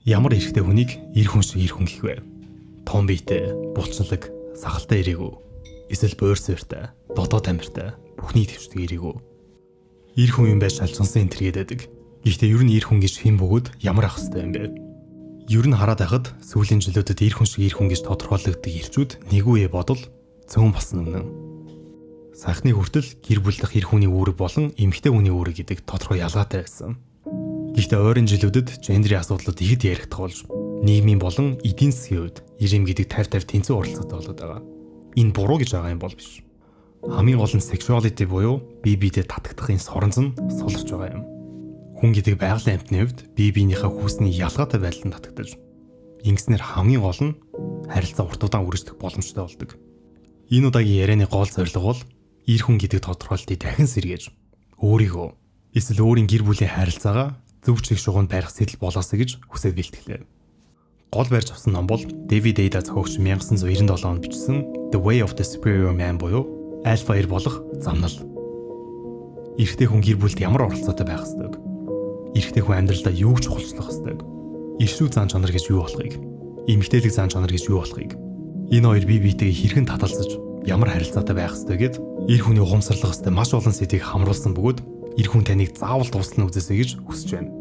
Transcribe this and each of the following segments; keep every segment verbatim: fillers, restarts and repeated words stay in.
Ямар эрэгтэй хүнийг эр хүн шиг эр хүн гэх вэ? Том биетэй, булчлаг, сахалтай ирээгүй. Эсвэл буур суурьтай, додоо тамиртай, бүхний төвчдөг ирээгүй. Эр хүн юм байж шалжгансан энэ төргээд байдаг. Гэхдээ ер нь эр хүн гэж хэн бөгөөд ямар ах хэвтэй юм бэ? Ер нь хараад байхад сүүлийн жилүүдэд эр хүн шиг эр хүн гэж тодорхойлогддог ирчүүд нэгүе бодол цөөн болсон үнэн. Сайхны хүртэл гэр бүл дахь эр хүний үүрэг болон эмэгтэй хүний үүрэг гэдэг тодорхой ялгаатай байсан. Гэхдээ ойрын жилүүдэд гендерийн асуудлууд ихэд яригдах болж нийгмийн болон эдийн засгийн хувьд ирэм гэдэг тавь тавь тэнцүү оролцоотой болоод байгаа. Энэ буруу гэж байгаа юм бол биш. Хамгийн гол нь sexuality буюу бие биедээ татагдахын соронз нь суларч байгаа юм. Хүн гэдэг байгалийн амьтны хувьд бие биенийхээ хүүсний ялгаатай байдлаар татагдаж, ингэснээр хамгийн гол нь харилцаа урт удаан үргэлжлэх боломжтой болдог. Энэ удаагийн ярианы гол зорилго бол эр хүн гэдэг тодорхойлолтыг дахин сэргээж өөрийгөө эсвэл өөрийн гэр бүлийн харилцаагаа зөв чиг шугуунд барих сэтэл болоосэй гэж хүсэж бэлтгэлээ. Гол барьж авсан ном бол Дэвид Эйда зохиогч найман девятьсот девяносто онд бичсэн The Way of the Superior Man буюу альфа эр болох замнал. Эрэгтэй хүн гэр бүлд ямар оролцоотой байх ёстой вэ? Эрэгтэй хүн амьдралдаа юу ч чухалчлах ёстой вэ? Иршүү зан чанар гэж юу болохыг, эмэгтэйлэг зан чанар гэж юу болохыг, энэ хоёр бие биетэйгээ хэрхэн таталзаж ямар харилцаатай байх ёстой гэд эр хүний ухамсарлах ёстой маш олон сэдвийг хамруулсан бөгөөд эр хүн таныг заавал дуустал үзээсэй гэж хүсэж байна.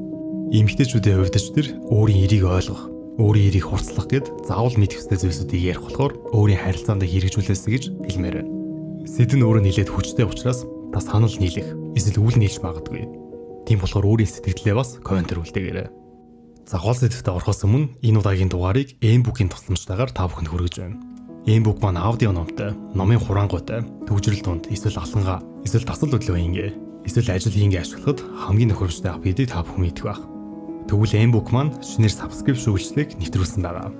Эмэгтэйчүүдийн хувьд ч тэр өөрийн эрийг ойлгох, өөрийн эрийг хурцлах гэд заавал мэдэх ёстой зүйлсүүдийг ярих болохоор өөрийн харилцаанд хэрэгжүүлээсэй гэж хэлмээр байна. Сэдв нь өөрөө нэлээд хүчтэй учраас та санал нийлэх, эсвэл үл нийлж магадгүй. Тийм болохоор өөрийн сэтгэлдээ бас комментэр үлдээгээрэй. За гол сэдвтэ орохоос өмнө энэ удаагийн дугаарыг M-Book-ийн тусламжтайгаар та бүхэнд хүргэж байна. M-Book маань аудио номтой, номын хураангуйтай, төвжирэл дунд, эсвэл алхангаа, эсвэл дасал хөдөлгөөн ингээ, эсвэл ажил хийнгээ ашиглахад хамгийн тохиромжтой ап гэдгийг та бүхэн мэдэх байх. Тэгвэл M-Book маань шинээр subscription үйлчлэгийг нэвтрүүлсэн байгаа.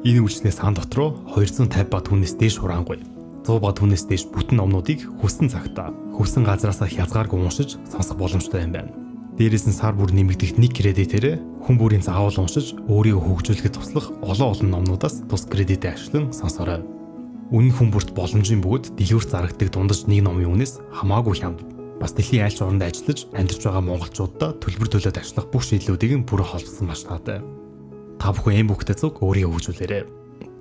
Энэ үйлчлэгийн сан дотроо двести пятьдесят ба түүнээс дээш хураангуй, сто ба түүнээс дээш бүтэн номнуудыг хүссэн цагтаа, хүссэн газараас хязгааргүй уншиж сонсох боломжтой юм байна. Дээрээс нь сар бүр нэмэгдэх нэг кредитээр хүн бүрийн заавал уншиж өөрийгөө хөгжүүлэхэд туслах олон олон номнуудаас тус кредитээ ашиглан сонсорой. Үнэн хүн бүрт боломжийн бөгөөд дэлгүүрт зарагддаг дундаж нэг номын үнээс хамаагүй хямд. Бас дэлхийн аль ч оронд ажиллаж амьдарч байгаа монголчуудаа төлбөр төлөөд ажиллах бүх шийдлүүдийг нь бүрэн холбосон маш таатай. Та бүхэн M-Book-тэй зүг өөрийгөө хөгжүүлээрэй.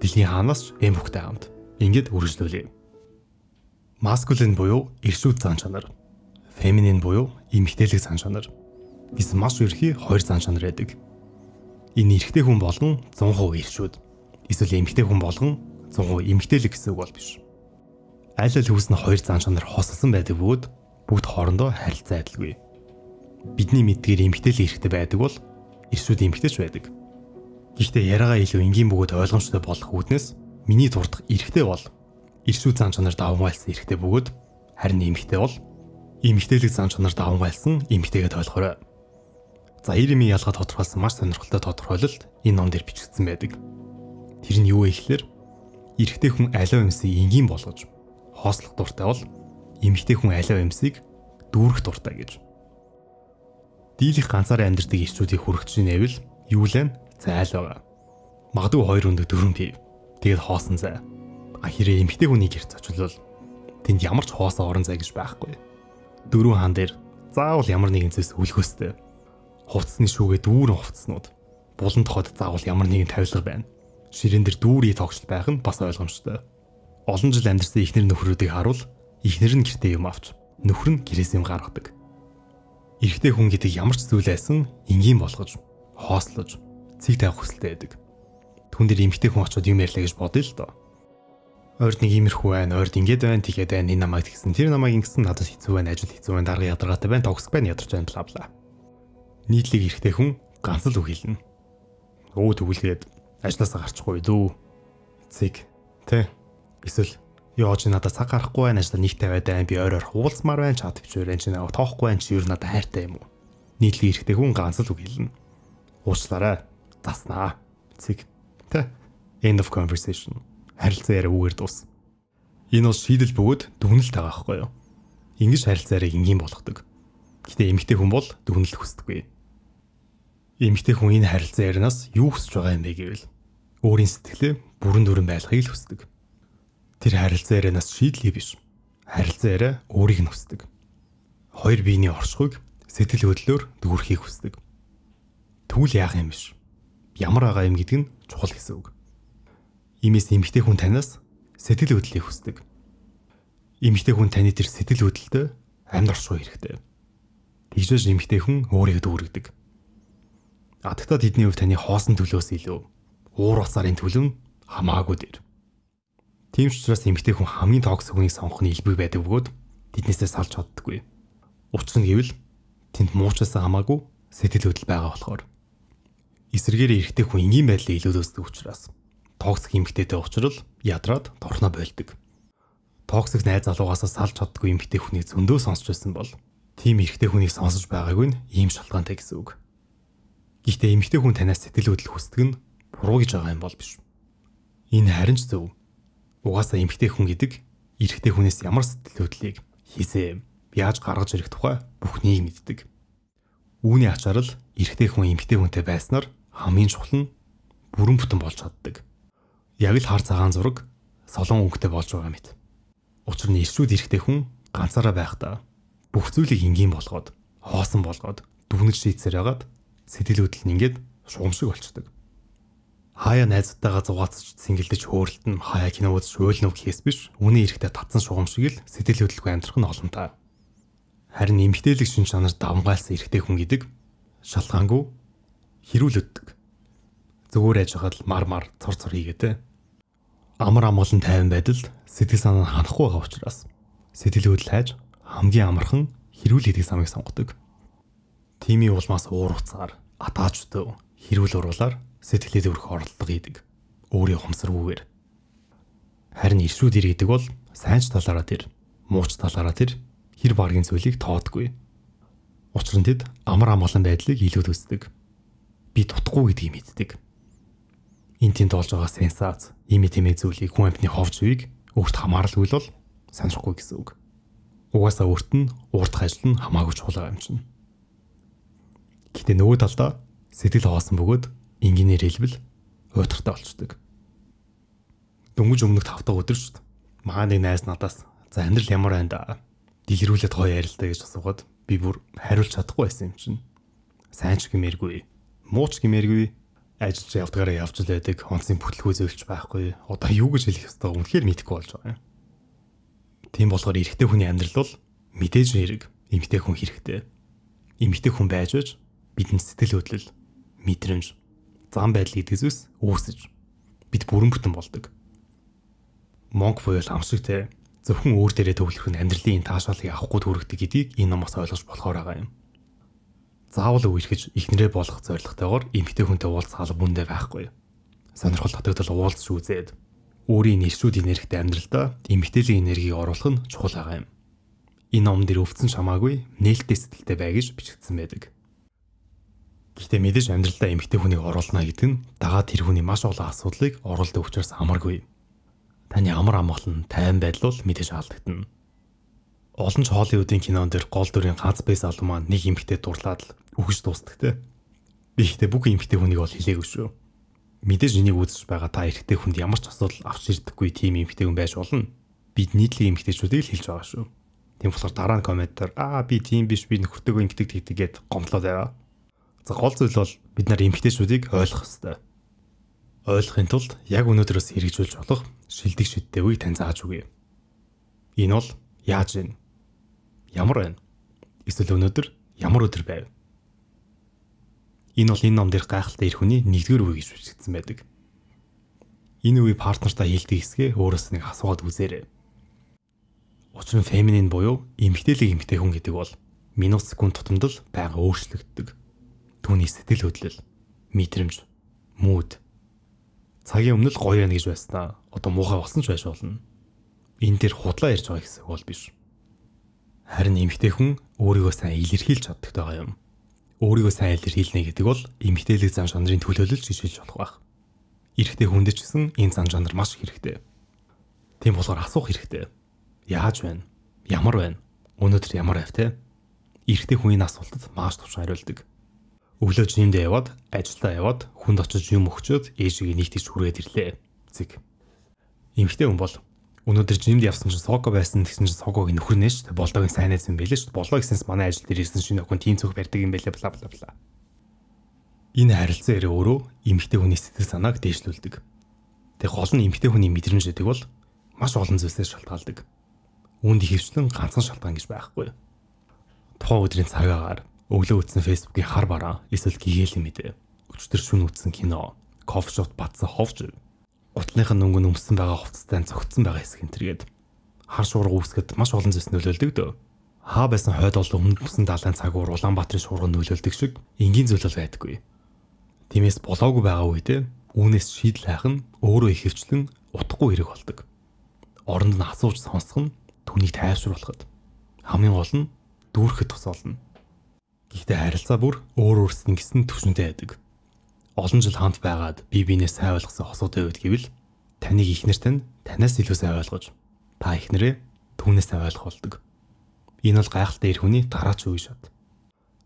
Дэлхийн хаанаас ч M-Book-тэй хамт ингэж үргэлжлүүлье. Masculine буюу эршүүд зан чанар, feminine буюу эмэгтэйлэг зан чанар гэсэн маш ерхий хоёр зан чанар байдаг. Энэ эрэгтэй хүн болгон сто процент эршүүд, эсвэл эмэгтэй хүн болгон сто процент эмэгтэйлэг гэсэн үг бол биш. Аль аль хүснэ хоёр зан чанар хосолсон байдаг бөгөөд бүгд хоорондоо харилцаа адилгүй. Бидний мэдгээр эмэгтэйлэг эрэгтэй байдаг бол эршүүд эмэгтэйч байдаг. Гэхдээ яриагаа илүү энгийн бөгөөд ойлгомжтой болох үүднээс миний дурдах эрэгтэй бол эршүүд зан чанар давмгайлсан эрэгтэй бөгөөд харин эмэгтэй бол эмэгтэйлэг зан чанар давмгайлсан эмэгтэйгээд ойлгоорой. За ирэмийн ялгаа тодорхойлсон маш сонирхолтой тодорхойлолт энэ ном дээр бичигдсэн байдаг. Тэр нь юу вэ гэхээр эрэгтэй хүн аливаа юмсыг энгийн болгож хоослох дуртай бол эмэгтэй хүн аливаа юмсыг дүүрэх дуртай гэж. Дийлэх ганцаараа амьдардаг эрчүүдийг хүргэж нэвэл юу лэн зайл байгаа. Магадгүй хоёр өндөг дөрөв тий. Тэгээд хоосон зай. А хэрэг эмэгтэй хүний гэрч очилвол тэнд ямар ч хоосоо орон зай гэж байхгүй. Дөрөв хаан дээр заавал ямар нэгэн зүйлс үлгөөстэй. Хувцсны шүүгээ дүүрэн хувцснууд. Булан тоход заавал ямар нэгэн тавилга байна. Ширээн дээр дүүрий тогтчл байх нь бас ойлгомжтой. Олон жил амьдарсан ихнэр нөхрүүдийг харуул ихнэр нь гэртээ юм авч нөхөр нь гэрээс юм гаргадаг. Эрэгтэй хүн гэдэг ямар ч зүйл айсан энгийн болгож, хоослож, цэг тавих хүсэлтэй байдаг. Түн дээр эмэгтэй хүн очиод юм ярьлаа гэж бодъё л доо. Ойрд нэг иймэрхүү байна, ойрд ингэж байна, тэгээд байна, энэ намайг тэгсэн, тэр намайг ингэсэн, надад хэцүү байна, ажил хэцүү байна, дарга ядаргаатай байна, токсик байна, ядарч байна, бла бла. Нийтлэг эрэгтэй хүн ганц л үг хэлнэ. Өө тгүүлгээд ажлаасаа гарчихгүй дүү. Цэг, тэ. Эсвэл ёо чи надад цаг гарахгүй байна, ажлаа нэг тавиад байна, би ойр ойр хуулцмаар байна, чад төвчээр энэ чи наваа тоохгүй байна, чи юу надад хайртай юм уу? Нийтлэг эрэгтэй хүн ганц л үг хэлнэ. Уучлаарай. Заснаа. Цэг, тэ. End of conversation. Харилцаа яриа үгээр дуус. Энэ бол шийдэл бөгөөд дүгнэлт байгаа байхгүй юу? Ингэж харилцаа яриаг энгийн болгодог. Гэтэ эмэгтэй хүн бол дүгнэлт хүсдэггүй. Эмэгтэй хүн энэ харилцаа ярианаас юу хүсэж байгаа юм бэ гэвэл өөрийн сэтгэлээ бүрэн дүрэн байлгахыг л хүсдэг. Тэр харилцаа ярианаас шийдлээ биш. Харилцаа яриа өөрийг нь хүсдэг. Хоёр биений оршихуйг сэтгэл хөдлөлөөр дүүрхийг хүсдэг. Тэгвэл яах юм биш. ямар байгаа юм гэдэг нь чухал гэсэн үг. Иймээс эмэгтэй хүн танаас сэтгэл хөдлөлийг хүсдэг. Эмэгтэй хүн таны тэр сэтгэл хөдлөлтөд амьд оршуу хэрэгтэй. Тэгжээж эмэгтэй хүн өөрийгөө дүүргэдэг. А тэгтээ тэдний хувьд таны хоосон төлөөс илүү уур уцаарын төлөв нь хамаагүй дээр. Тийм ч учраас эмэгтэй хүн хамгийн токсик хүнийг сонгох нь илбэг байдаг бөгөөд тэднээсээ салж чаддаггүй. Учир нь гэвэл тэнд муучаасаа хамаагүй сэтгэл хөдлөл байгаа болохоор. Эсвэргээр эрэгтэй хүн энгийн байдлыг илүү үздэг учраас токсик эмэгтэйтэй уулзрал ядраад торхноо болдог. Токсик найз залуугаасаа салж чаддаггүй эмэгтэй хүнийг зөндөө сонсч байсан бол тийм эрэгтэй хүнийг сонсож байгаагүй нь ийм шалтгаантай гэсэн үг. Гэхдээ эмэгтэй хүн танаас сэтгэл хөдлөл хүсдэг нь буруу гэж байгаа юм бол биш. Энэ харин ч зөв. Угаасаа эмэгтэй хүн гэдэг эрэгтэй хүнээс ямар сэтгэл хөдлөлийг хийсээ, яаж гаргаж ирэх тухай бүхнийг мэддэг. Үүний ачаар л эрэгтэй хүн эмэгтэй хүнтэй байснаар хамгийн чухал нь бүрэн бүтэн болж чаддаг. Яг л хар цагаан зураг солон өнгөтэй болж байгаа мэт. Учир нь иршүүд эрэгтэй хүн ганцаараа байхдаа бүх зүйлийг энгийн болгоод, хоосон болгоод, дүгнэж шийдсээр ягаад сэтгэл хөдлөл нь ингээд шугамшиг болчдөг. Хаяа найзтайгаа зугаацч сэнгэлдэж хөөрөлтөн хаяа кино үзэж уйлнав гэхээс биш, үнэн эрэхтэй татсан шугамшиг л сэтгэл хөдлөлгүй амьдрах нь олонтаа. Харин эмгтээлэг шин чанар давмгайлсан эрэгтэй хүн гэдэг шалгаангүй хэрүүлэгдэг. Зүгээр яж хагаад мар мар цор цор хийгээтэй. Амар амгалан тайван байдалд сэтгэл санаа нь ханахгүй байгаа учраас сэтгэл хөдлөл хайж хамгийн амархан хэрүүл хийдэг самыг сонгодог. Тимийн улмаас уур уцаар атаачтай хэрүүл уруулаар сэтгэлээ дөрөх оролдлого хийдэг. Өөрийн ухамсаргүйгээр. Харин иршүүд ир гэдэг бол сайн ч талаараа тэр, мууч талаараа тэр хэр баргийн зүйлийг тоодгүй. Учир нь тэд амар амгалан байдлыг илүү төсдөг. Би дутхгүй гэдгийг мэддэг. Энд тэнд болж байгаа сенсац, ийм тэмээ зүйлийг хүн амьтны ховж үеиг өөрт хамааралгүй бол санахгүй гэсэн үг. Угаасаа өөрт нь уурдах ажил нь хамаагүй чухал юм чинь. Гэтэ нөгөө талдаа сэтгэл хоосон бөгөөд энгийнээр хэлбэл уйтгартай болчдөг. Дөнгөж өмнөх тав дахь өдөр шүү дээ. Маа нэг найз надаас за амьдрал ямар байна да? Дэлгэрүүлээд гоё ярилтаа гэж асуугаад би бүр хариулж чадахгүй байсан юм чинь. Сайн ч гэмээргүй, муу ч гэмээргүй, ажиллаж явдгаараа явж л байдаг, онцгийн бүтлгүү зөөлж байхгүй. Одоо юу гэж хэлэх ёстой үнэхээр мэдэхгүй болж байгаа юм. Тийм болохоор эрэгтэй хүний амьдрал бол мэдээж хэрэг эмэгтэй хүн хэрэгтэй. Эмэгтэй хүн байж байж бидний сэтгэл хөдлөл, мэдрэмж, зам байдал гэдэг зүйлс үүсэж бид бүрэн бүтэн болдог. Монк буюу амшигтэй зөвхөн өөр дээрээ төвлөрөх нь амьдралын таашаалыг авахгүй төрөгдөг гэдгийг энэ номоос ойлгож болохоор байгаа юм. Заавал үерхэж ихнэрээ болох зорилготойгоор эмэгтэй хүнтэй уулзах алба бүндэ байхгүй. Сонирхол татагдал уулзч үзээд өөрийн нэршүүд энергитэй амьдралдаа эмэгтэйлийн энергийг оруулах нь чухал байгаа юм. Энэ ном дээр өвдсөн шамаагүй нээлттэй сэтгэлтэй бай гэж бичигдсэн байдаг. Гэхдээ мэдээж амьдралдаа эмэгтэй хүнийг оруулна гэдэг нь дагаад тэр хүний маш олон асуудлыг оруулдаг учраас хамаргүй. Таны амар амгалан тайван байдал бол мэдээж алдагдана. Олон ч Холливуудын кинон дээр гол дүрийн ганц бай залуу маань нэг эмэгтэй дурлаад л үхэж дуустдаг те. Би ихтэй бүх эмэгтэй хүнийг бол хэлээгүй шүү. Мэдээж энийг үзэж байгаа та эрэгтэй хүнд ямар ч асуудал авч ирдэггүй тийм эмэгтэй хүн байж болно. Бид нийтлэг эмэгтэйчүүдийг л хэлж байгаа шүү. Тийм болохоор дараа нь комментээр аа би тийм биш би нөхөртөөгөө эмэгтэй тэгдэгээд гомдлоод байгаа. За гол зүйл бол бид нар эмэгтэйчүүдийг ойлгох ёстой. Ойлгохын тулд яг өнөөдрөөс хэрэгжүүлж болох шилдэг шидтэй үеийг тань зааж өгье. Энэ бол яаж вэ? Ямар байна? Эсвэл өнөөдөр ямар өдөр байв? Энэ бол энэ ном дээр гайхалтай эр хүний нэгдүгээр үе гэж бичигдсэн байдаг. Энэ үе партнертаа хэлдэг хэсгээ өөрөөс нэг асуугаад үзээрэй. Учир нь феминин буюу эмэгтэйлэг эмэгтэй хүн гэдэг бол минут секунд тутамд л байнга өөрчлөгддөг. Түүний сэтгэл хөдлөл, мэдрэмж, мууд цагийн өмнө л гоё байна гэж байснаа одоо муухай болсон ч байж болно. Энэ дээр худлаа ярьж байгаа гэсэн үг бол биш. Харин эмэгтэй хүн өөрийгөө сайн илэрхийлж чаддаг байгаа юм. Өөрийгөө сайн илэрхийлнэ гэдэг бол эмэгтэйлэг зан чанарын төлөөлөл гэж хэлж болох байх. Эрэгтэй хүнд ч гэсэн энэ зан чанар маш хэрэгтэй. Тийм болохоор асуух хэрэгтэй. Яаж байна? Ямар байна? Өнөөдөр ямар байв те? Эрэгтэй хүний асуултад маш товчхон хариулдаг. Өглөө жимдээ яваад, ажилдаа яваад, хүнд очиж юм өгчөөд ээжигээ нэгтгэж хүргээд ирлээ. Зэг. Эмэгтэй хүн бол өнөөдөр жимд явсан чинь сого байсан гэсэн чинь согог нөхөр нэ шүү дээ. Болдогийн сайн найз юм байлээ шүү дээ. Болоо гэсэнс манай ажил дээр ирсэн шинэ охин тийм цог барьдаг юм байлээ бла бла бла. Энэ харилцаа ярэ өөрөө эмэгтэй хүний сэтгэл санааг дээшлүүлдэг. Тэг гол нь эмэгтэй хүний мэдрэмж гэдэг бол маш олон зүйлсээс шалтгаалдаг. Үүнд ихэвчлэн ганцхан шалтгаан гэж байхгүй. Тухайн өдрийн цагаагаар өглөө үзсэн фэйсбүүкийн хар бараа эсвэл гэгээлэн мэдээ, өчтөр шөнө үзсэн кино, кофе шопт бадсан ховж, гутлынх нь өнгө өмссөн байгаа хувцастай цогцсон байгаа хэсэг энэ төргээд хар шуурга үүсгэхэд маш олон зүйлс нөлөөлдөг дөө. Хаа байсан хойд бол өмнөдсөн далайн цагуур Улаанбаатарын шуурга нөлөөлдөг шиг энгийн зүйл бол байдаггүй. Тиймээс болоогүй байгаа үедээ үүнээс шийдэл хайх нь өөрөө ихэвчлэн утгагүй хэрэг болдог. Оронд нь асууж сонсох нь түүнийг тайвшруулахад, хамгийн гол нь дүүрхэхэд тусална. Гэхдээ харилцаа бүр өөр өөрсдийн гэсэн түвшинтэй байдаг. Олон жил хамт байгаад бие биенээ сайн ойлгосон хосуудын үед гэвэл таныг ихнэр тань танаас илүү сайн ойлгож, та ихнэрээ түүнээс сайн ойлгох болдог. Энэ бол гайхалтай эр хүний дараач үе шат.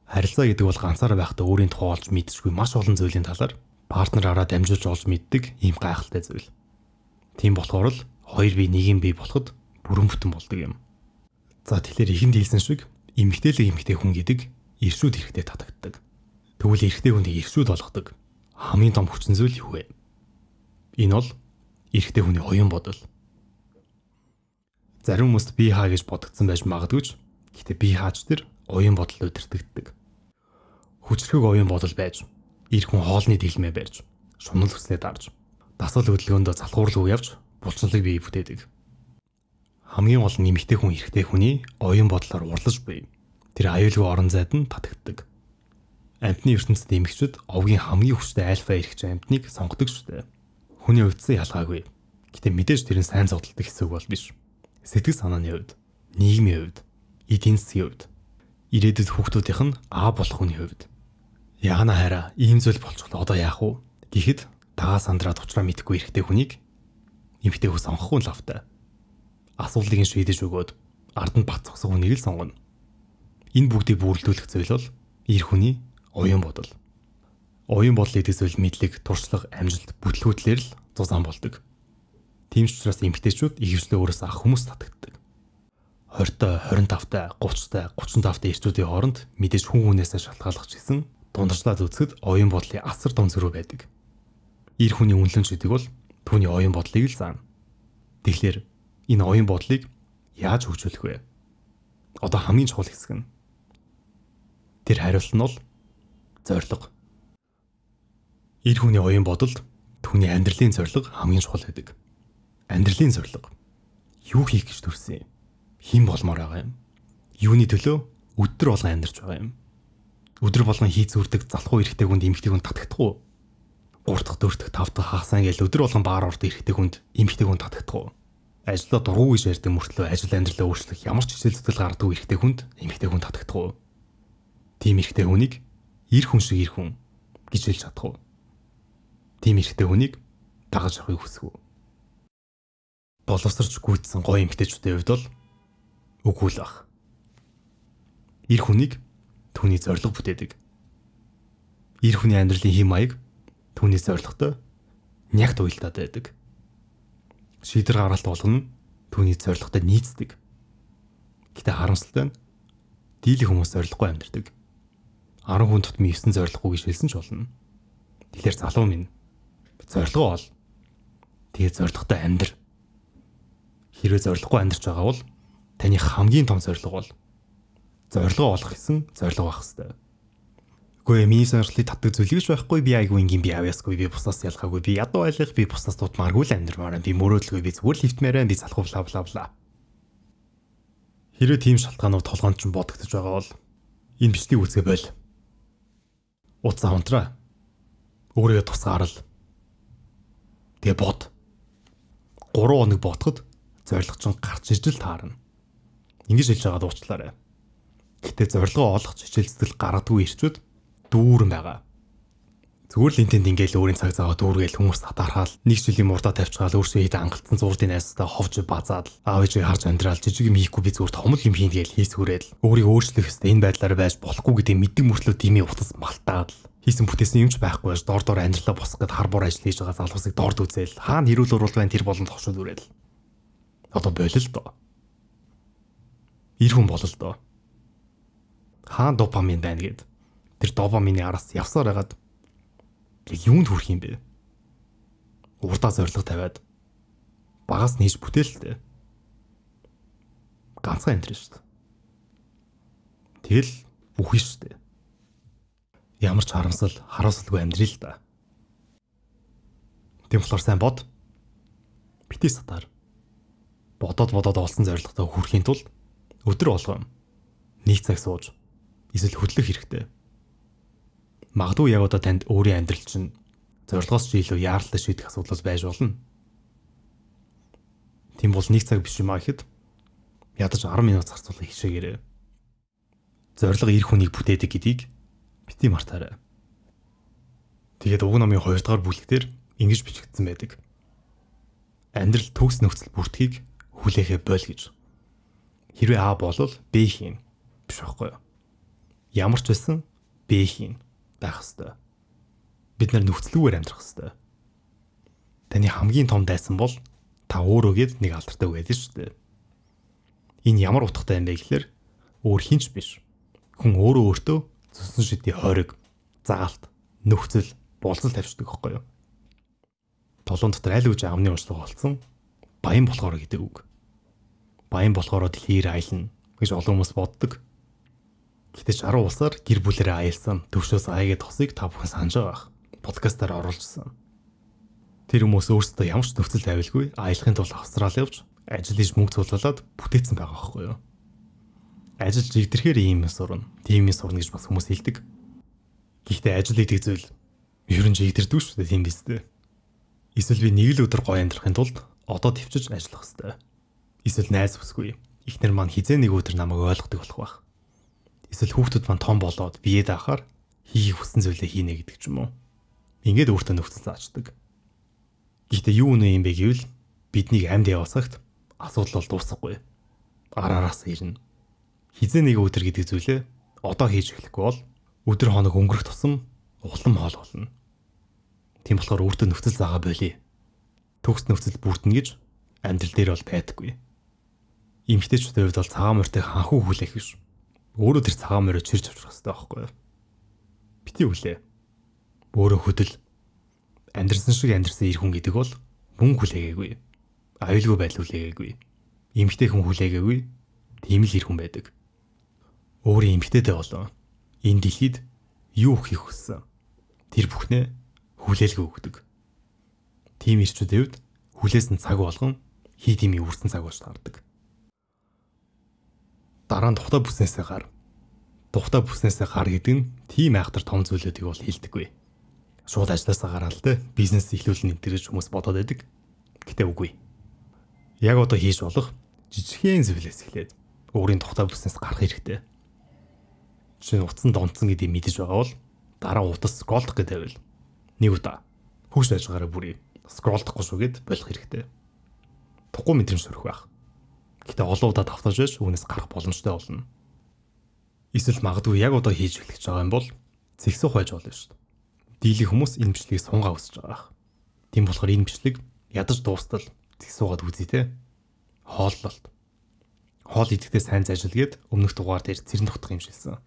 Харилцаа гэдэг бол ганцаараа байхдаа өөрийн тухай олж мэдчихгүй маш олон зүйлийн талаар партнераараа дамжуулж олж мэддэг ийм гайхалтай зүйл. Тийм болохоор л хоёр бие нэг юм бий болоход бүрэн бүтэн болдог юм. За тэгэхээр ихэнд хэлсэн шиг эмэгтэйлэг эмэгтэй хүн гэдэг эршүүд хэрэгтэй татагддаг. Тэгвэл эрэгтэй хүнийг эршүүд болгодог хамгийн том хүчин зүйл юу вэ? Энэ бол эрэгтэй хүний оюун бодол. Зарим хүмүүст би хаа гэж бодогдсон байж магадгүй ч гэхдээ би хаач тэр оюун бодол удирдагддаг. Хүчрхэг оюун бодол байж, эр хүн хоолны дэлмээ барьж, шунал хүслээ дарж, дасгал хөдөлгөөндөө залхуурлуу явж булчинлаг бий бүтээдэг. Хамгийн гол нь эмэгтэй хүн эрэгтэй хүний оюун бодлоор урлаж буй тэр аюулгүй орон зайд нь татагддаг. Амьтны ертөнцид эмэгчид овгийн хамгийн хүчтэй альфа эрхч амьтныг сонгодог шүү дээ. Хүний хувьдсан ялгаагүй. Гэтэ мэдээж тэр нь сайн зодтолдог хэсэг бол биш. Сэтгэл санааны хувьд, нийгмийн хувьд, эдийн засгийн хувьд, ирээдүйд хүүхдүүдийнх нь аа болох хүний хувьд. Яана хараа ийм зүйл болчихлоо одоо яах вэ гэхэд дагаа сандраад уучраа мэдхгүй эрэгтэй хүнийг эмэгтэй хүн сонгохгүй лавтай. Асуултыг шийдэж өгөөд ард нь бат цогсох хүнийг л сонгоно. Энэ бүгдийг бүрэлдүүлэх зүйл бол эр хүний оюун бодол. Оюун бодол гэдэг зүйл мэдлэг, туршлага, амжилт, бүтлгүүтлэр л зузаан болдог. Тийм ч учраас эмэгтэйчүүд ихэвчлэн өөрөөсөө ах хүмүүс татагддаг. двадцать, двадцать пять, тридцать, тридцать пять эрчүүдийн хооронд мэдээж хүн хүнээсээ шалтгааллах ч гэсэн дундарчлаад үзэхэд оюун бодлын асар том зөрүү байдаг. Эр хүний үнэлэмж гэдэг бол түүний оюун бодлыг л заана. Тэгэхээр энэ оюун бодлыг яаж хөгжүүлэх вэ? Одоо хамгийн чухал хэсэг нь тэр хариулт нь бол зорилго. Эр хүний оюун бодолд түүний амьдралын зорилго хамгийн чухал байдаг. Амьдралын зорилго. Юу хийх гэж төрсөн юм? Хэн болмоор байгаа юм? Юуны төлөө өдөр болгон амьдарч байгаа юм? Өдөр болгон хий зүрдэг залхуу эрэгтэй хүнд эмэгтэй хүн татагдах уу? гурав дахь, дөрөв дахь, тавх дахь хагасаа ингээл өдөр болгон баар ордог эрэгтэй хүнд эмэгтэй хүн татагдах уу? Ажлаа дургуй гэж ярьдаг мөртлөө ажил амьдралаа өөрчлөх ямар ч хичээл зүтгэл гаргадаг эрэгтэй хүнд эмэгтэй хүн татагдах уу? Тийм эрэгтэй хүнийг эр хүн шиг эр хүн гэж хэлж чадах уу? Тийм эрэгтэй хүнийг дагаж авахыг хүсэх үү? Боловсрч гүйцсэн гоё эмэгтэйчүүдийн хувьд бол үгүй л ах. Эр хүнийг түүний зорилго бүтээдэг. Эр хүний амьдралын хэм маяг түүний зорилготой нягт уялдаад байдаг. Шийдвэр гаргалт болгоно түүний зорилготой нийцдэг. Гэтэ харамсалтай нь дийлэх хүмүүс зорилгогүй амьдардаг. арван хүн тутмын есөн зорилгогүй гэж хэлсэн ч болно. Тэгэхээр залуу минь зорилгоо ол. Тэгээ зорилготой амьдр. Хэрвээ зорилгогүй амьдарч байгаа бол таны хамгийн том зорилго бол зорилгоо олох гэсэн зорилго байх хэрэгтэй. Үгүй миний сонирхлыг татдаг зүйл гэж байхгүй, би айгүй ингийн би авьяасгүй, би бусаас ялгаагүй, би ядуу айлах, би бусаас дутмааргүй л амьдрмаар, би мөрөөдлгүй, би зүгээр л хөвтмээрэн, би залхуу бла бла бла. Хэрвээ тийм шалтгаанууд толгоонд ч бодогдож байгаа бол энэ бичгийг үзгээ бойл. Уцаа хонтраа. Өөрийгөө тусгаарл. Тэгээ бод. гурван хоног бодоход зорилго чинь гарч ирж л таарна. Ингэж хэлж байгаа дуучлаарай. Гэтэ зорилгоо олох хичээл зүтгэл гаргадаггүй ирчүүд дүүрэн байгаа. Зүгээр л энтэнд ингээл өөрийн цаг цагаа дүүргээл хүмүүс татаархаал нэг жилийн мурдаа тавьчихаал өөрсдөө хэд ангалтсан зурдын найзтай ховж базаад аав ээжийг харж амьдрал жижиг юм хийхгүй би зүгээр томол юм хийн гээл хийсгүүрэл өөрийгөө өөрчлөх хэвээр энэ байдлаараа байж болохгүй гэдэг мэддэг мөртлөө димээ утас малтаад хийсэн бүтээсэн юмч байхгүй байж дор дор амьдралаа босгох гэд харбор ажил хийж байгаа залуусыг дорд үзээл хаана хэрүүл уруул байна тэр болон тохшууд үрэл. Одоо болил доо. Ир хүн болол доо. Хаан допамин байна гэд тэр допамины араас явсаар байгаад яг юунд хүрэх юм бэ? Урдаа зориг тавиад багаас нээж бүтээлтэй. Ганцхан амьдрын шүү дээ. Тэгэл үгүй шүү дээ. Ямар ч харамсал, хараасалгүй амьдрий л да. Тэм болохоор сайн бод. Битгий сатаар. Бодоод бодоод олсон зорилготой хүрэхийн тулд өдөр болгон нэг цаг сууж эсвэл хөдлөх хэрэгтэй. Магадгүй яг одоо танд өөрийн амьдрал чинь зорилгоос ч илүү яаралтай шийдэх асуудал байж болно. Тийм бол нэг цаг биш юм аа гэхэд ядаж арван минут зарцуулах хишээгээрээ. Зорилго эр хүнийг бүтээдэг гэдгийг бити мартаарай. Тэгээд уг номын хоёр дахь бүлэгтэр ингэж бичигдсэн байдаг. Амьдрал төгс нөхцөл бүртгийг хүлээхээ бойл гэж. Хэрвээ А болвол Б хийн. Биш байхгүй юу? Ямар ч байсан Б хийн байх ёстой. Бид нар нөхцөлгүйгээр амьдрах ёстой. Таны хамгийн том дайсан бол та өөрөөгээд нэг алдартай байдаг шүү дээ. Энэ ямар утгатай юм бэ гэхээр өөр хинч биш. Хүн өөрөө өөртөө зүсэн шидийн хориг, заалт, нөхцөл, болцол тавьчихдаг байхгүй юу? Толон дотор аль үжи амны уншлага болсон баян болохоор гэдэг үг. Баян болохоор дэлхийр аялна гэж олон хүмүүс боддог. Гэтэл жаруу улсаар гэр бүлэрээ аялсан төвшөөс аягээд тосыг та бүхэн санаж байгаа. Подкастаар оруулжсан. Тэр хүмүүс өөрсдөө ямар ч нөхцөл тавилгүй аялахын тулд Австрали явж ажил хийж мөнгө цуглуулад бүтээсэн байгаа байхгүй юу? Ажил жигдэрхээр ийм юм сурна, тийм юм сурна гэж бас хүмүүс хэлдэг. Гэхдээ ажил гэдэг зүйл ер нь жигдэрдэг шүү дээ, тийм биз дээ. Эсвэл би нэг л өдөр гоё амьдрахын тулд одоо төвчж ажиллах хэрэгтэй. Эсвэл найз бүсгүй ихнэр маань хизээ нэг өдөр намайг ойлгодог болох байх. Эсвэл хүүхдүүд маань том болоод бие даахаар хийх хүссэн зүйлээ хийнэ гэдэг ч юм уу. Ингээд өөртөө нөхцөл заачдаг. Гэхдээ юу нэ юм бэ гэвэл бидний амьд яваасагт асуудал бол дуусахгүй. Араараас ирнэ. Хизээ нэг өдөр гэдэг зүйлээ одоо хийж эхлэхгүй бол өдөр хоног өнгөрөх тусам улам хоол болно. Тийм болохоор өөртөө нөхцөл заагаа болий. Төгс нөхцөл бүртнэ гэж амьдрал дээр бол байдаггүй. Эмэгтэйчүүдийн хувьд бол цагаан морьтой ханхуу хүлээх биш. Өөрөө тэр цагаан морийг чирч авчих хэрэгтэй байхгүй юу? Бити хүлээ. Өөрөө хөдөл. Амьдрсан шиг амьдрсан ир хүн гэдэг бол мөн хүлээгээгүй. Аюулгүй байдал хүлээгээгүй. Эмэгтэй хүн хүлээгээгүй. Тийм л ир хүн байдаг. Өөрийн эмэгтэйдээ болоо. Энэ дэлхийд юу хийх хүссэн? Тэр бүхнээ хүлээлгээ өгдөг. Тийм ирчүүдийн хувьд хүлээсэн цаг болгон хий тимийн үрсэн цаг болж таардаг. Дараа нь тухтай бүснээсээ гар. Тухтай бүснээсээ гар гэдэг нь тийм айхтар том зүйлүүдийг бол хэлдэггүй. Шууд ажилласаа гараал те бизнес эхлүүлнэ гэж хүмүүс бодоод байдаг. Гэтэ үгүй. Яг одоо хийж болох жижигхэн зүйлээс эхлээд өөрийн тухтай бүснээс гарах хэрэгтэй. Жишээ нь утсан донцсон гэдгийг мэдэж байгаа бол дараа утас скролдох гэдэг байвал нэг удаа хөөс ажгаараа бүрий скролдохгүй шүүгээд болох хэрэгтэй. Тухгүй мэдрэмж төрөх байх. Гэтэ олон удаа давтаж байж үүнээс гарах боломжтой болно. Эсвэл магадгүй яг одоо хийж эхлэх гэж байгаа юм бол зэгсүүх байж болно шүү дээ. Дийлэх хүмүүс энэ бичлэгийг сунгаа үсэж байгаа. Тийм болохоор энэ бичлэг ядаж дуустал зэгсүүгаад үзье те. Хооллолт. Хоол идэхдээ сайн заажилгээд өмнөх дугаар дээр цэрэн тогтох юм шилсэн.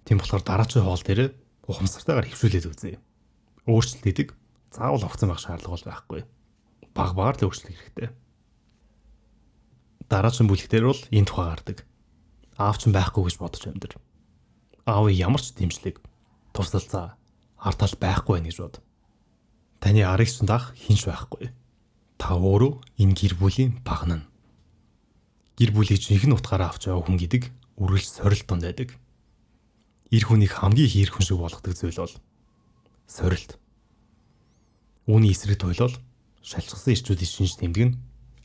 Тийм болохоор дараачийн хоол дээр ухамсартайгаар хөвшүүлээд үзье. Өөрчлөлт идэг заавал огцон байх шаардлага бол байхгүй. Баг багаар л өөрчлөх хэрэгтэй. Дараагийн бүлэгтэр бол энэ тухай гардаг. Аав ч байхгүй гэж бодож амьдар. Аав ямар ч дэмжлэг, тусалцаа, артал байхгүй байх гэж бод. Таны арыг ч даах хинч байхгүй. Та өөрөө энэ гэр бүлийн багнана. Гэр бүлийг жинхэнэ утгаараа авч яваа хүн гэдэг үргэлж сорилт донд байдаг. Ир хүнийг хамгийн их ир хүн шиг болгодог зүйл бол сорилт. Үүний эсрэг туйлол шалчсан ирчүүдийн шинж тэмдэг нь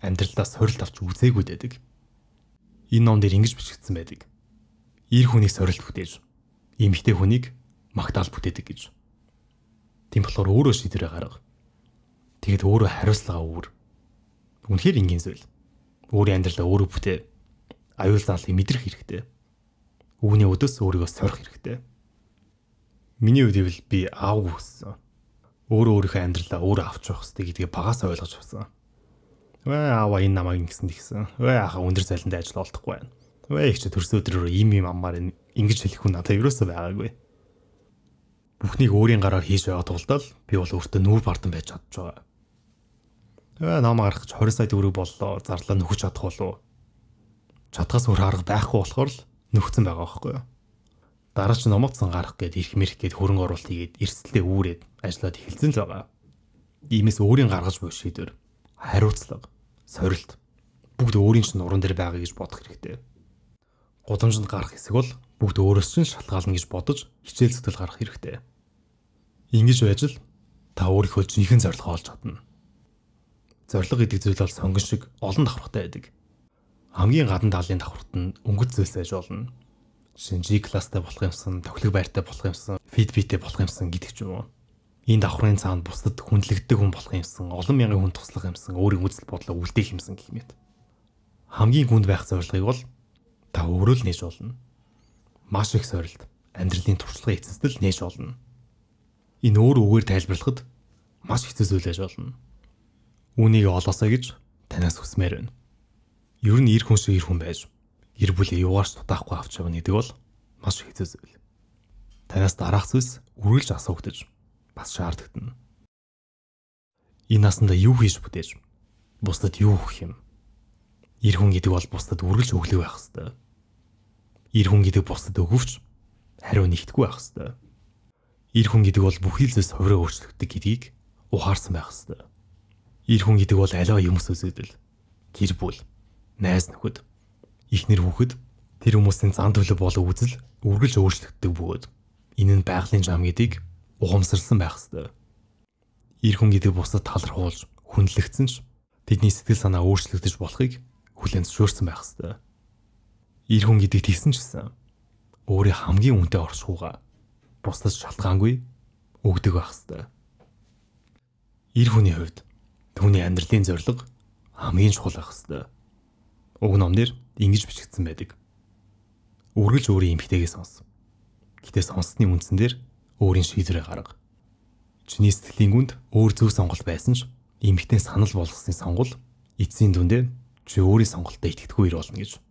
амьдралдаа сорилт авч үзээгүй байдаг. Энэ ном дээр ингэж бичигдсэн байдаг. Ир хүнийг сорилт бүтээж, эмэгтэй хүнийг магтаал бүтээдэг гэж. Тийм болохоор өөрөө шийдвэрээ гарга. Тэгэд өөрөө хариуцлага үүр. Үнэхээр энгийн зүйл. Өөрийн амьдралаа өөрөө бүтээ. Аюул заалыг мэдрэх хэрэгтэй. Үүний өдөөс өөрийгөө сорих хэрэгтэй. Миний хувьд би аав хүссэн. Өөрөө өөрийнхөө амьдралаа өөрөө авч явах хэрэгтэй гэдгийг багаас ойлгож авсан. Вэ аава энэ намайг ингэсэн тэгсэн. Вэ ахаа өндөр зайланд ажил олдохгүй байна. Вэ их ч төрсөн өдрөөр ийм ийм аммаар ингэж хэлэх хүн надад ерөөсөө байгаагүй. Бүхнийг өөрийн гараар хийж байгаа тулдаа би бол өөртөө нүүр бардан байж чадж байгаа. Тэгээ ном гаргах гэж двадцать сая төгрөг боллоо. Зарлаа нөхөж чадах болов. Чадхаас өөр арга байхгүй болохоор л нөхцөн байгаа байхгүй юу. Дараа ч номоцсон гарах гээд ирэх мэрх гээд хөрөнгө оруулалт хийгээд эрсдэлээ үүрээд ажиллаад эхэлсэн л байгаа. Иймээс өөрийн гаргаж буй шийдвэр, хариуцлага, сорилт бүгд өөрийн чинь нуруунд дээр байгаа гэж бодох хэрэгтэй. Гудамжинд гарах хэсэг бол бүгд өөрөөс чинь шалтгаална гэж бодож хичээл зүтгэл гарах хэрэгтэй. Ингэж байж л та өөрийнхөө жинхэнэ зорилгоо олж чадна. Зорилго гэдэг зүйл бол сонгон шиг олон давхартай байдаг. Хамгийн гадна талын давхарт нь өнгөц зүйлс байж болно. Жишээ нь G класстай болох юмсан, тохилог байртай болох юмсан, Fitbit-тэй болох юмсан гэдэг ч юм уу. Энэ давхрын цаанд бусдад хүндлэгддэг хүн болох юмсан, олон мянган хүн туслах юмсан, өөрийн үзэл бодлоо үлдээх юмсан гэх мэт. Хамгийн хүнд байх зорилгыг бол та өөрөө л нээж болно. Маш их сорилт, амьдралын туршлагын эцэстэл нээж болно. Энэ өөр үгээр тайлбарлахад маш хэцүү зүйл байж болно. Үүнийг олоосоо гэж танаас хүсмээр байна. Ер нь ир хүн шиг ир хүн байж гэр бүлээ юугаарч тутаахгүй авч явна гэдэг бол маш хэцүү зүйл. Танаас дараах зүйлс үргэлж асуугдаж бас шаардлагдан. Энэ насанда юу хийж бүтээж, бусдад юу өгөх юм? Ир хүн гэдэг бол бусдад үргэлж өглөө байх ёстой. Ир хүн гэдэг бусдад өгөвч хариу нэгтгэхгүй байх ёстой. Ир хүн гэдэг бол бүхий л зүйлс хувираа өөрчлөгддөг гэдгийг ухаарсан байх ёстой. Ир хүн гэдэг бол аливаа юмс үзэгдэл, гэр бүл, найз нөхөд, эхнэр хүүхэд тэр хүмүүсийн зан төлөв болон үзэл үргэлж өөрчлөгддөг бөгөөд энэ нь байгалийн зам гэдгийг ухамсарласан байх ёстой. Ир хүн гэдэг бусдад талархуулж, хүндлэгдсэн ч тэдний сэтгэл санаа өөрчлөгдөж болохыг хүлээн зөвшөөрсөн байх ёстой. Ир хүн гэдэг тийсэн ч гэсэн өөрийн хамгийн үнэтэй оршихуйгаа бусдад шалтгаангүй өгдөг байх ёстой. Ир хүний хувьд түүний амьдралын зорилго хамгийн чухал байх ёстой. Уг номнэр ингэж бичигдсэн байдаг. Үргэлж өөрийн эмгтэйгээ сонс. Гэтэ сонссны үндсэн дээр өөрийн шийдвэрээ гарга. Чиний сэтгэлийн гүнд өөр зөв сонголт байсан ч эмгтэн санал болгосны сонгол эцсийн дүндээ чи өөрийн сонголтод итгэдэггүй ир болно гэж.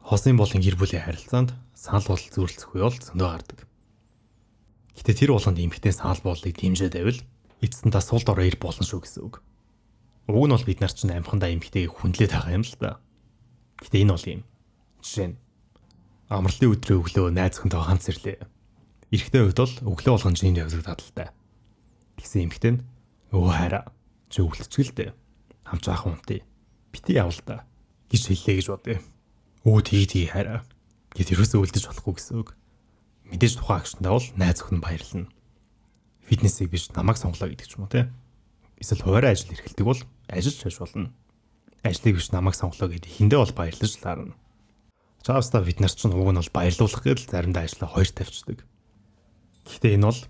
Хосын болон гэр бүлийн харилцаанд санал бодол зүйрлэх үе бол зөндөө гардаг. Гэтэ тэр болгонд эмгтэн санал бодлыг дэмжиж байвал эцэст нь та сул дорой ир болно шүү гэсэн үг. Уг нь бол бид нар чинь амхандаа эмгтэйг хүндлээд байгаа юм л да. Гэтэ энэ бол юм. Жишээ нь амралтын өдрөө өглөө найз охинтой хамт сэрлээ. Эрэгтэй хувьд бол өглөө болгон жинд явдаг тадалтай. Тэгсэн эмгтэн өө хараа чи өвлөцгөлтэй. Хамт заах унтыг бити явал та гэж хэллээ гэж бодъё. Өө тгий тгий хараа. Гэт ерөөсөө үлдэж болохгүй гэсэн үг. Мэдээж тухайн агшинтай бол найз охин баярлна. Фитнесийг биш намайг сонглоо гэдэг ч юм уу те. Эсвэл хуваарай ажил эрхэлдэг бол ажиллаж байж болно. Ажлыг биш намайг сонглоо гэдэг эхэндээ бол баярлаж лаарна. Чаавста бид нар ч уг нь бол баярлуулах гэдэл заримдаа ажлаа хоёр тавьчихдаг. Гэхдээ энэ бол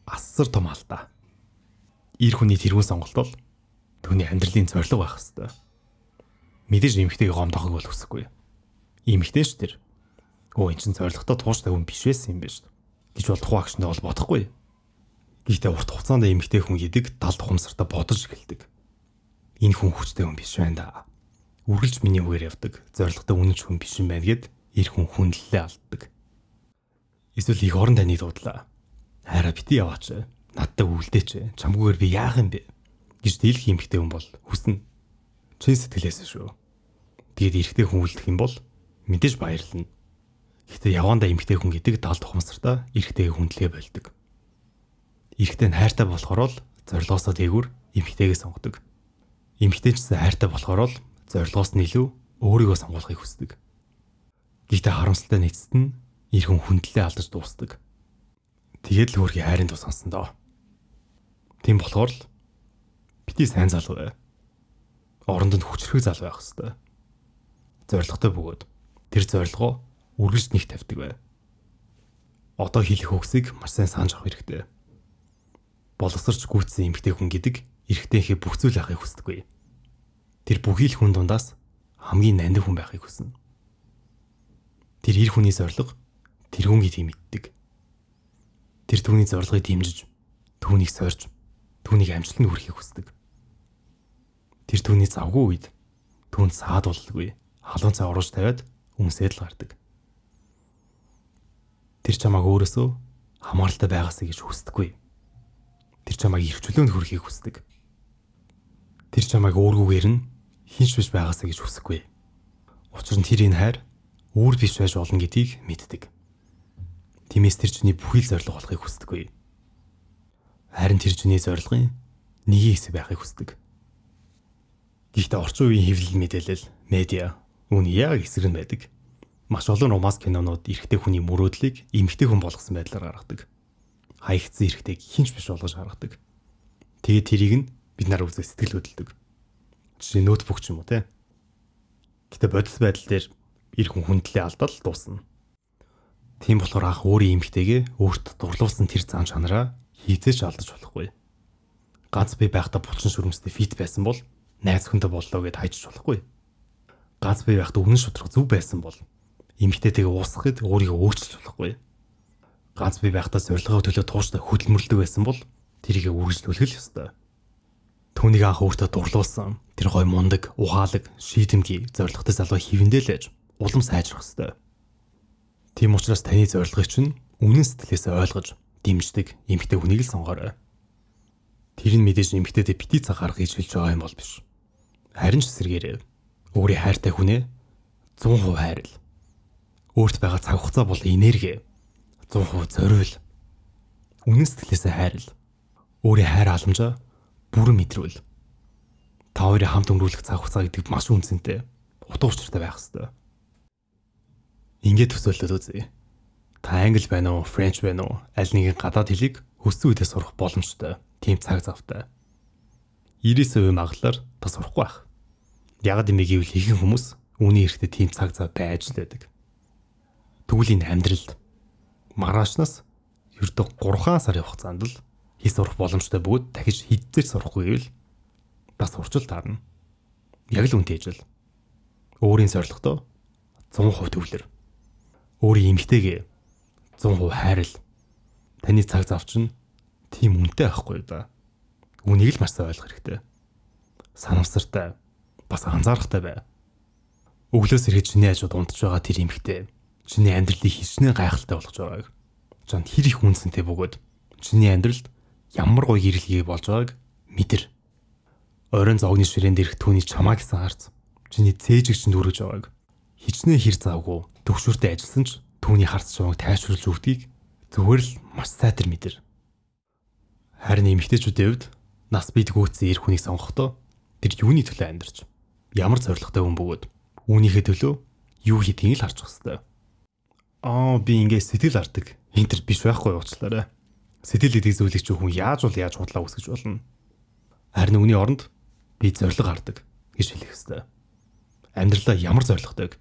асар том алдаа. Ир хүний тэрүүн сонголт бол түүний амьдралын зорилго байх ёстой. Мэдээж эмэгтэйг гомдохыг бол хүсэхгүй. Эмэгтэй ш тэр. Өө эн чин зорилготой тууштай хүн биш байсан юм биш гэж бол тухайн агшиндаа бол бодохгүй. Гэхдээ урт хугацаанд эмэгтэй хүн гэдэг далд ухамсартаа бодож эхэлдэг. Энэ хүн хүчтэй хүн биш байна да. Үргэлж миний үгээр явдаг, зорилготой үнэнч хүн биш юм байна гэд ир хүн хүндлэлээ алддаг. Эсвэл их орон таны дуудлаа. Хайраа бити яваач. Надтай үлдээч. Чамгүйгээр би яах юм бэ? гэж дийлэх эмэгтэй хүн бол хүснэ. Чин сэтгэлээс шүү. Тэгээд эрэгтэй хүн үлдэх юм бол мэдээж баярлна. Гэхдээ явандаа эмэгтэй хүн гэдэг далд ухамсартаа эрэгтэй хүндлэгээ болдог. Эрэгтэй нь хайртай болохоор л зорилгоосоо дээгүүр эмэгтэйгээ сонгодог. Эмэгтэй ч гэсэн хайртай болохоор л зорилгоос нь илүү өөрийгөө сонгохыг хүсдэг. Гэхдээ харамсалтай нь эцэст нь эр хүн хүндлэлээ алдаж дуусдаг. Тэгээд л өөрхийн хайрын тус сонсон доо. Тийм болохоор л бити сайн залуу бай. Оронд нь хүчрэх залуу байх хэвээр. Зорилготой бөгөөд тэр зорилгоо үргэлж нэг тавьдаг бай. Одоо хэлэх үгсийг маш сайн санаж авах хэрэгтэй. Боловсрч гүйцсэн эмэгтэй хүн гэдэг эрэгтэйхээ бүх зүйл ахыг хүсдэггүй. Тэр бүхий л хүн дундаас хамгийн нандин хүн байхыг хүснэ. Тэр эр хүний зорилго тэр хүн гэдгийг мэддэг. Тэр түүний зорилгыг дэмжиж, түүнийг сорьж, түүнийг амжилтанд хүрэхийг хүсдэг. Тэр түүний завгүй үед түүнд саад боллгүй, халуун цай оруулж тавиад үнсээд л гардаг. Тэр чамааг өөрөөсөө хамааралтай байгаасаа гэж хүсдэггүй. Тэр чамайг эрхчлөөнд хүрэхийг хүсдэг. Тэр чамайг өөргүйгээр нь хинч биш байгаасаа гэж хүсэхгүй. Учир нь тэр энэ хайр өөр биш байж болно гэдгийг мэддэг. Тиймээс тэр чиний бүхий л зориг болохыг хүсдэггүй. Харин тэр чиний зорилгын нэгэн хэсэг байхыг хүсдэг. Гэхдээ орчин үеийн хэвлэл мэдээлэл, медиа үүн яг эсрэг нь байдаг. Маш олон романс кинонууд эрэгтэй хүний мөрөөдлийг эмэгтэй хүн болгосон байдлаар гаргадаг. Хаягдсан эрэгтэйг хинч биш болгож гаргадаг. Тэгээд тэрийг нь бид нар үзээ сэтгэл хөдлөдөг. Жишээ ноутбук ч юм уу те. Гэтэ бодис байдал дээр эр хүн хүндлээ алдал дуусна. Тийм болохоор анх өөрийн эмэгтэйгээ өөртөө дурлуулсан тэр зан чанараа хийцээч алдаж болохгүй. Ганц бий байхдаа булчин шүрмстэй фит байсан бол найз хүнтэй боллоо гэд хайж болохгүй. Ганц бий байхдаа үнэн шударга зүв байсан бол эмэгтэйтэйгээ уусгахад өөрийгөө өөрчилж болохгүй. Ганц бий байхдаа зорилгоо төлөө тууштай хөдөлмөрлөдөг байсан бол тэрийг үргэлжлүүлэх л ёстой. Түүнийг анх өөртөө дурлуулсан тэр гой мундаг, ухаалаг, шийдэмгий, зоригтой залуу хивэндээ л ээж улам сайжрах ёстой. Тийм учраас таны зорилгыг чинь үнэн сэтгэлээсээ ойлгож, дэмждэг эмэгтэй хүнийг л сонгоорой. Тэр нь мэдээж эмэгтэйдээ бити цаг гаргах гэж хэлж байгаа юм бол биш. Харин ч эсэргээрээ өөрийн хайртай хүнээ зуун хувь хайрл. Өөрт байгаа цаг хугацаа бол энерги зуун хувь зориул. Үнэн сэтгэлээсээ хайрл. Өөрийн хайр халамжаа бүрэн мэдрүүл. Та хоёрын хамт өнгөрүүлэх цаг хугацаа гэдэг маш үнцэнтэй. Утга учиртай байх ёстой. Ингээд төсөөлөд үзье. Та англи байна уу, френч байна уу? Аль нэгэн гадаад хэлийг хүссэн үедээ сурах боломжтой. Тийм цаг завтай. девяносто процент магадлалаар та сурахгүй байх. Ягд юм гэвэл ихэнх хүмүүс үүний эрэхтэй тийм цаг зав байж л байдаг. Тэгвэл энэ амьдралд маргаашнаас ердөө гурван сарын хугацаанд л хий сурах боломжтой бөгөөд дахиж хиддэж сурахгүй гэвэл бас урчил таарна. Яг л үнтэй ижил. Өөрийн зорилготой сто процент төвлөр. Өөрийн эмгтэйгээ сто процент хайрл. Таны цаг зав чинь тийм үнэтэй байхгүй да. Үнийг л маш сайн ойлгох хэрэгтэй. Санамсартай, бас анзаарахтай бай. Өглөөс ирээд чиний ажууд унтж байгаа тэр эмгтэй чиний амьдралыг хичнээн гайхалтай болгож байгааг чанд хэр их үнцэнтэй бөгөөд чиний амьдралд ямар гоё гэрэлгээ болж байгааг мэдэр. Оройн зогны ширээн дээрх түүний чамаа гэсэн харц чиний цээжиг чинь дүргэж байгааг хичнээн хэр завгүй төвшөртэй ажилласан ч түүний харц чамайг тайвшруулж өгдгийг зүгээр л маш сайтар мэдэр. Харин эмэгтэйчүүдийн хувьд нас бид гүйцсэн эр хүнийг сонгохдоо тэр юуны төлөө амьдарч ямар зоригтой хүн бөгөөд үүнийхээ төлөө юу хийдгийг л харж хэвээр. Аа би ингээ сэтгэл арддаг. Энтер биш байхгүй уучлаарай. Сэтгэл гэдэг зүйлийг ч хүн яаж бол яаж худлаа үсгэж болно. Харин үүний оронд би зориг гардаг гэж хэлэх хэвээр. Амьдралаа ямар зоригтой.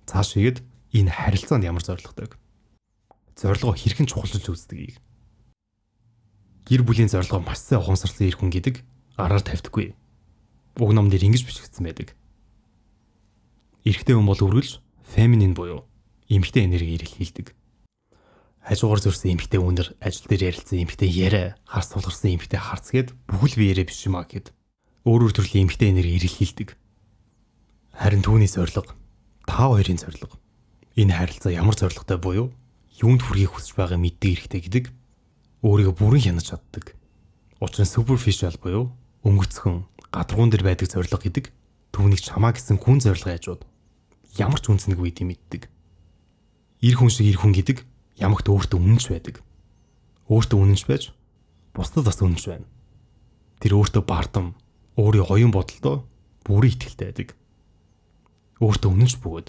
Цааш игээд энэ харилцаанд ямар зоригтой. Зорилгоо хэрхэн чухалчилж үздгийг. Гэр бүлийн зорилгоо маш сайн ухамсарласан эр хүн гэдэг араар тавьдаггүй. Уг ном дээр ингэж бичигдсэн байдаг. Эрэгтэй хүн бол үргэлж феминин буюу эмэгтэй энерги илэрхийлдэг. Хажуугаар зөрсөн эмэгтэй өнөр, ажил дээр ярилцсан эмэгтэй яриа, харс тулгарсан эмэгтэй харц гэд бүхэл биеэрээ биш юмаа гэд өөр өөр төрлийн эмэгтэй энерги илэрхийлдэг. Харин түүний зорилго, та хоёрын зорилго. Энэ харилцаа ямар зорилготой буюу юунд хүрэхийг хүсэж байгаа мэддэг эрэгтэй гэдэг өөрийгөө бүрэн хянаж чаддаг. Учир нь superficial буюу өнгөцхөн, гадаргуун дээр байдаг зорилго гэдэг түүнийг чамаа гэсэн хүн зорилгын хажууд ямар ч үнцэнгүй гэдэг мэддэг. Ир хүн шиг ир хүн гэдэг ямагт өөртөө үнэнч байдаг. Өөртөө үнэнч байж бусдад бас үнэнч байна. Тэр өөртөө бардам, өөрийн оюун бодолдоо бүрэн итгэлтэй байдаг. Өөртөө үнэнч бөгөөд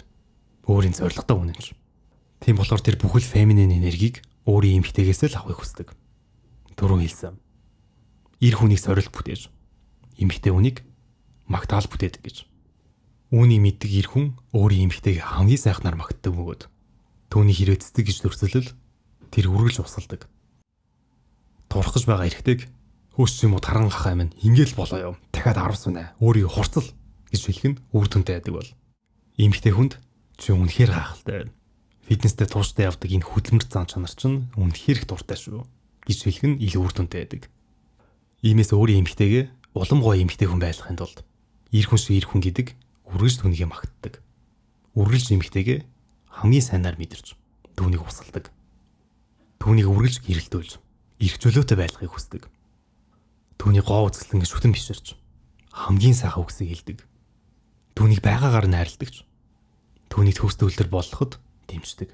өөрийн зорилготой үнэнч. Тийм болохоор тэр бүхэл феминин энергийг өөрийн эмэгтэйгээс л авахыг хүсдэг. Дөрөв хэлсэн. Ир хүнийг сорилт бүтээж, эмэгтэй хүнийг магтаал бүтээдэг гэж. Үүнийг мэддэг ир хүн өөрийн эмэгтэйг хамгийн сайхнаар магтдаг бөгөөд түүний хэрэг цэцэг гэж төрсөлөл тэр үргэлж усалдаг. Турах гэж байгаа эрэгтэйг хөөс юм уу таран хахаа минь ингээл болоо юу. Дахиад аравсан нэ. Өөрийг хурцл гэж хэлэх нь үр дүнтэй байдаг бол. Эмэгтэй хүнд чи үнэхээр гайхалтай байна. Фитнестэй тууштай явдаг энэ хөдөлмөрт зан чанар чинь үнэхээр их дуртай шүү гэж хэлэх нь илүү үр дүнтэй байдаг. Иймээс өөрийн эмэгтэйгээ улам гоё эмэгтэй хүн байлгахын тулд ир хүн шиг ир хүн гэдэг үргэлж түүнийгээ магтдаг. Үргэлж эмэгтэйгээ хамгийн сайнаар мэдэрч түүнийг усалдаг. Түүнийг үргэлж гэрэлтүүлж, эрх чөлөөтэй байлгахыг хүсдэг. Түүний гоо үзэсгэлэн шүтэн биширч, хамгийн сайхан үгсийг хэлдэг. Түүнийг байгаагаар нь хайрладагч. Түүний төгсд үлдэр болгоход дэмждэг.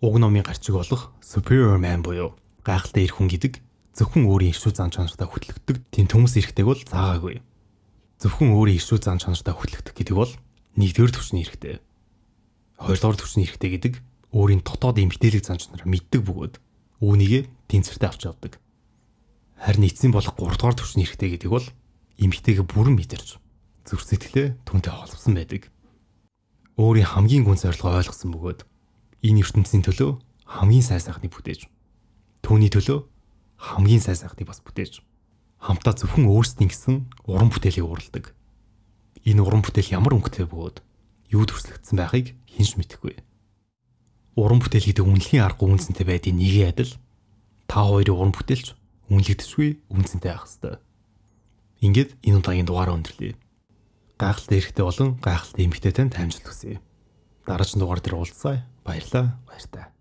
Уг номын гарчиг болох Superior Man буюу гайхалтай эрх хүн гэдэг зөвхөн өөрийн иршүү зан чанартай хөтлөгдөг тийм төмс эрхтэйг бол заагаагүй. Зөвхөн өөрийн иршүү зан чанартай хөтлөгдөх гэдэг бол нэгдүгээр түвшний эрхтэй. Хоёрдугаар түвшний эрхтэй гэдэг өөрийн дотоод эмгтээлэг зан чанараа мэддэг бөгөөд үүнийг тэнцвэртэй авч явдаг. Харин эцсийн болох гуравдугаар түвшний эрхтэй гэдэг бол эмгтэйгээ бүрэн мэдэрч зүрх сэтгэлээ түүнтэй холбосон байдаг. Өөрийн хамгийн гүн зорилгоо ойлгосон бөгөөд энэ ертөнцийн төлөө хамгийн сайн сайхныг бүтээж, түүний төлөө хамгийн сайн сайхныг бас бүтээж, хамтдаа зөвхөн өөрсдийн гэсэн уран бүтээлийг уралдаг. Энэ уран бүтээл ямар өнгөтэй бөгөөд юу төрслөгдсөн байхыг хинш мэдэхгүй. Уран бүтээл гэдэг үнэлхийн аргагүй үнцэнтэй байдгийг нэгээ адил та хоёрын уран бүтээлч үнэлэгдэшгүй үнцэнтэй байх ёстой. Ингээд энэ удаагийн дугаараа өндөрлөе. Гайхалтай эрхтэй болон гайхалтай эмэгтэй танд амжилт хүсье. Дараагийн дугаар дээр уулзъя. Баярлалаа. Баяртай.